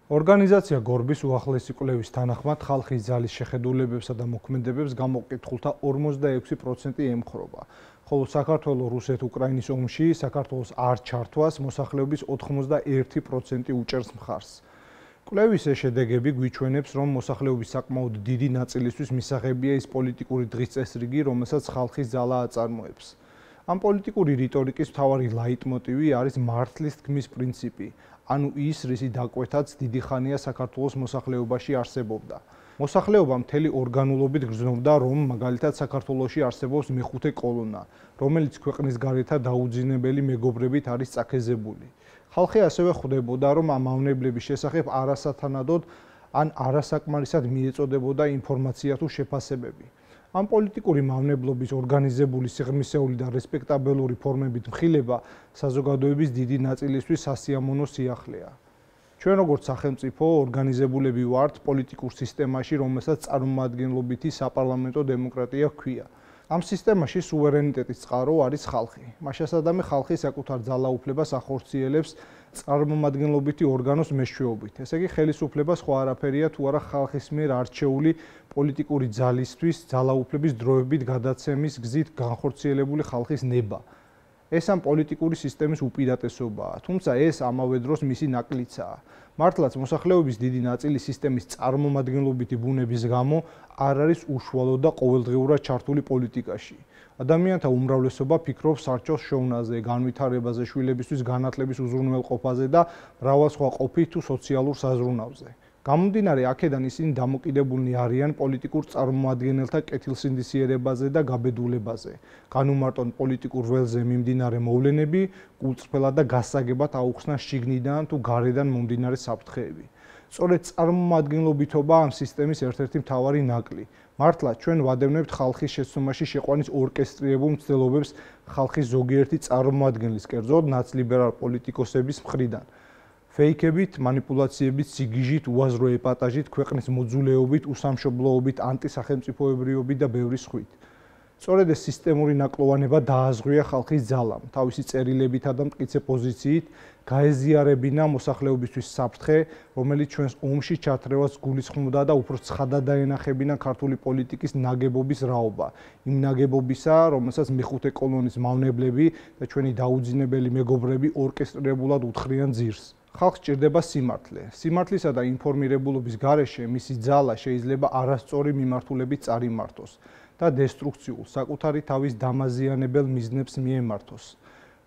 ორგანიზაცია გორბის უახლესი კვლევის თანახმად ხალხის ძალის შეხედულებებსა და მოქმედებებს გამოკითხულთა 46% ემხრობა, ხოლო საქართველოს რუსეთ-უკრაინის ომში საქართველოს არ ჩართვას მოსახლეობის 81% უჭერს მხარს. კვლევის ეს შედეგები გვიჩვენებს, რომ მოსახლეობის საკმაოდ დიდი ნაწილისთვის მისაღებია ის პოლიტიკური დღის წესრიგი, რომელსაც ხალხის ძალა აწარმოებს. ამ პოლიტიკური რიტორიკის მთავარი ლაიტმოტივი არის მართლის თქმის პრინციპი, ანუ ის, რისი დაკვეთაც დიდი ხანია საქართველოს მოსახლეობაში არსებობდა. მოსახლეობა მთელი ორგანულობით გრძნობდა, რომ მაგალითად საქართველოში არსებობს მეხუთე კოლონა, რომელიც ქვეყნის გარეთა დაუძინებელი მეგობრებით არის წაქეზებული. ხალხი ასევე ხვდებოდა, რომ ამ მავნებლების შესახებ არასათანადოდ ან არასაკმარისად მიეწოდებოდა ინფორმაცია თუ შეფასებები. ამ პოლიტიკური მავნებლობის ორგანიზებული სიღრმისეული და რესპექტაბელური ფორმებით მხილება საზოგადოების დიდი ნაწილისთვის სასიამოვნო სიახლეა. ჩვენ როგორც სახელმწიფო ორგანიზებულები ვართ პოლიტიკურ სისტემაში, რომელსაც წარმომადგენლობითი საპარლამენტო დემოკრატია ჰქვია. ამ სისტემაში სუვერენიტეტის წყარო არის ხალხი. მაშასადამე ხალხი საკუთარ ძალაუფლებას ახორციელებს წარმომადგენლობითი ორგანოს მეშვეობით. ესე იგი, ხელისუფლება სხვა არაფერია თუ არა ხალხის მიერ არჩეული პოლიტიკური ძალისთვის ძალაუფლების დროებით გადაცემის გზით განხორციელებული ხალხის ნება. ეს ამ პოლიტიკური სისტემის უპირატესობაა, თუმცა ეს ამავე დროს მისი ნაკლიცაა. მართლაც მოსახლეობის დიდი ნაწილი სისტემის წარმომადგენლობითი ბუნების გამო არ არის უშუალოდ და ყოველდღიურად ჩართული პოლიტიკაში. ადამიანთა უმრავლესობა ფიქრობს სარჩოს შოვნაზე, განვითარებაზე, შვილებისთვის განათლების უზრუნველყოფაზე და მრავალ სხვა ყოფით თუ სოციალურ საზრუნავზე. გამომდინარე აქედან ისინი დამოკიდებულნი არიან პოლიტიკურ წარმომადგენელთა კეთილსინდისიერებაზე და გაბედულებაზე. განუმარტონ პოლიტიკურ ველზე მიმდინარე მოვლენები, კულწრფელად და გასაგებად აუხსნან შიგნიდან თუ გარედან მომდინარე საფრთხეები. სწორედ წარმომადგენლობითობა ამ სისტემის ერთ-ერთი მთავარი ნაკლი. მართლა ჩვენ ვადევნებთ ხალხის შეცდომაში შეყვანის ორკესტრირებულ მცდელობებს ხალხის ზოგიერთი წარმომადგენლის, კერძოდ ნაცლიბერალ პოლიტიკოსების მხრიდან. ფეიქებით, манипуляციებით, სიგიჟით, უაზრო ეპატაჟით, ქვეყნის მოძულეობით, უსამშობლოობით, ანტისახელმწიფოებრიობით და ბევრი სხვით. სწორედ ეს სისტემური ნაკლოვანება დააზღვია ხალხის ძალამ, თავისი წერილებითა და მტკიცე პოზიციით გაეზიარებინა მოსახლეობისთვის საფრთხე, რომელიც ჩვენს ომში ჩათრევას გულისხმობდა და უფრო ცხადად დაენახებინა ქართული პოლიტიკის ნაგებობის რაობა, იმ ნაგებობისა, რომელსაც მეხუთე კოლონის მავნებლები და ჩვენი დაუძინებელი მეგობრები ორკესტრირებულად უთხრიან ძირს. ხალხს სჭირდება სიმართლე. სიმართლისა და ინფორმირებულობის გარეშე მისი ძალა შეიძლება არასწორი მიმართულებით წარიმართოს და დესტრუქციულ, საკუთარი თავის დამაზიანებელ მიზნებს მიემართოს.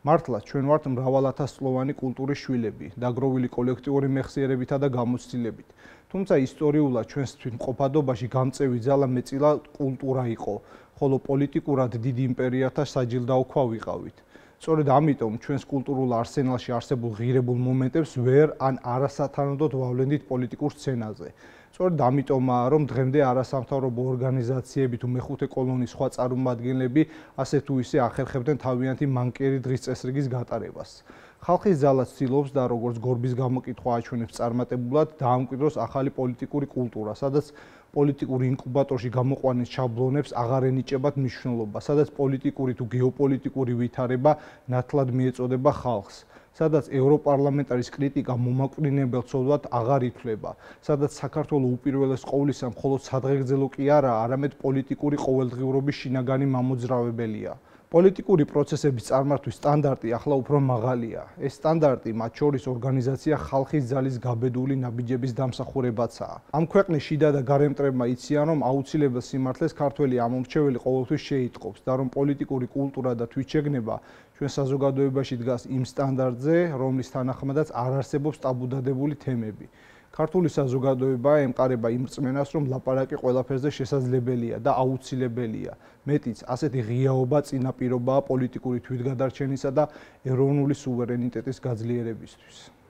მართლა ჩვენ ვართ მრავალათასწლოვანი კულტურის შვილები, დაგროვილი კოლექტიური მეხსიერებითა და გამოცდილებით. თუმცა ისტორიულად ჩვენს თვითმყოფადობაში გამწევი ძალა მეტწილა კულტურა იყო, ხოლო პოლიტიკურად დიდი იმპერიათა საჯილდაო ქვა ვიყავით. სწორედ ამიტომ ჩვენს კულტურულ არსენალში არსებულ ღირებულ მომენტებს ვერ ან არასათანადოდ ვავლენდით პოლიტიკურ სცენაზე. სწორედ ამიტომაა, რომ დღემდე არასამთავრობო ორგანიზაციები თუ მეხუთე კოლონის სხვა წარმომადგენლები ასე თუ ისე ახერხებდნენ თავიანთი მანკიერი დღის წესრიგის გატარებას. ხალხის ძალა ცდილობს და როგორც გორბის გამოკითხვა აჩვენებს წარმატებულად დაამკვიდროს ახალი პოლიტიკური კულტურა, სადაც პოლიტიკური ინკუბატორში გამოყვანის შაბლონებს აღარ ენიჭებათ მნიშვნელობა, სადაც პოლიტიკური თუ გეოპოლიტიკური ვითარება ნათლად მიეწოდება ხალხს, სადაც ევროპარლამენტარის კრიტიკა მომაკვდინებელ ცოდვად აღარ ითვლება, სადაც საქართველოს უპირველეს ყოვლისა მხოლოდ სადღეგრძელო კი არა, არამედ პოლიტიკური ყოველდღიურობის შინაგანი მამოძრავებელია. პოლიტიკური პროცესების წარმართვის სტანდარტი ახლა უფრო მაღალია. ეს სტანდარტი, მათ შორის ორგანიზაცია ხალხის ძალის გაბედული ნაბიჯების დამსახურებაცაა. ამ ქვეყნის შიდა და გარე მტრებმა იციან, რომ აუცილებელ სიმართლეს ქართველი ამომრჩეველი ყოველთვის შეიტყობს და რომ პოლიტიკური კულტურა და თვითშეგნება ჩვენ საზოგადოებაში დგას იმ სტანდარტზე, რომლის თანახმადაც არ არსებობს ტაბუდადებული თემები. ქართული საზოგადოება ემყარება იმ რწმენას, რომ ლაპარაკი ყველაფერზე შესაძლებელია და აუცილებელია. მეტიც, ასეთი ღიაობა წინაპირობაა პოლიტიკური თვითგადარჩენისა და ეროვნული სუვერენიტეტის გაძლიერებისთვის.